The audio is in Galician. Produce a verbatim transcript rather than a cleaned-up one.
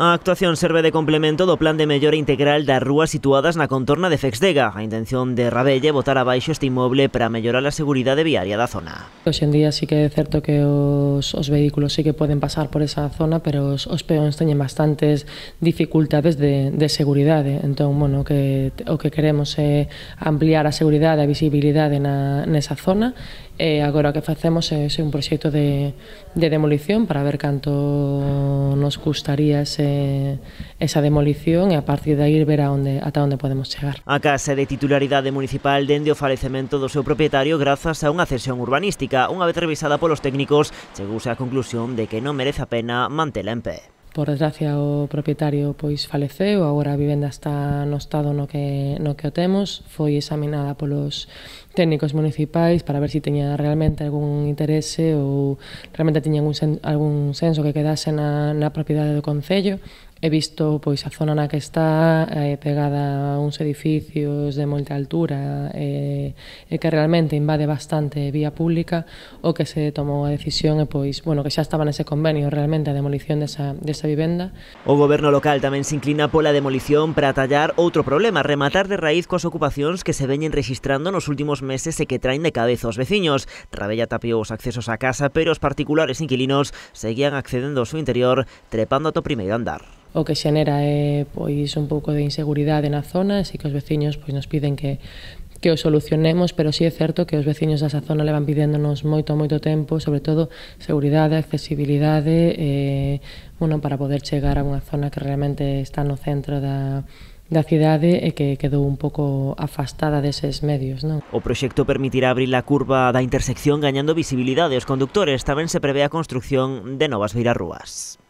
A actuación serve de complemento do plan de mellora integral das rúas situadas na contorna de Fexdega. A intención de Rabelle botar abaixo este inmoble para mellorar a seguridade viaria da zona. Hoxe en día sí que é certo que os, os vehículos sí que poden pasar por esa zona, pero os, os peóns teñen bastantes dificultades de, de seguridade. Entón, bueno, que, o que queremos é ampliar a seguridade e a visibilidade na, nesa zona. E agora o que facemos é, é un proxecto de, de demolición para ver canto nos custaría ese, esa demolición e a partir de aí ver a onde, ata onde podemos chegar. A casa de titularidade municipal dende o falecemento do seu propietario grazas a unha cesión urbanística. Unha vez revisada polos técnicos, chegouse á conclusión de que non merece a pena mantela en pé. Por desgracia o propietario pois faleceu, agora a vivenda está no estado no que, no que o temos, foi examinada polos técnicos municipais para ver se si teña realmente algún interese ou realmente tiña algún, sen, algún senso que quedase na, na propiedade do concello. He visto pois a zona na que está eh, pegada a uns edificios de moita altura e, e que realmente invade bastante vía pública. O que se tomou a decisión é pois, bueno, que xa estaba nese convenio realmente a demolición desa, desa vivenda. O goberno local tamén se inclina pola demolición para atallar outro problema, rematar de raíz coas ocupacións que se veñen registrando nos últimos meses e que traen de cabeza os veciños. Rabella tapiou os accesos á casa, pero os particulares inquilinos seguían accedendo ao seu interior trepando ata o primeiro andar. O que xenera é pois un pouco de inseguridade na zona, así que os veciños pois nos piden que que o solucionemos, pero sí é certo que os veciños desa zona levan pidéndonos moito moito tempo, sobre todo seguridade, accesibilidade, eh, bueno, para poder chegar a unha zona que realmente está no centro da da cidade e que quedou un pouco afastada deses medios, non? O proxecto permitirá abrir a curva da intersección gañando visibilidade aos condutores. Tamén se prevé a construción de novas beirarrúas.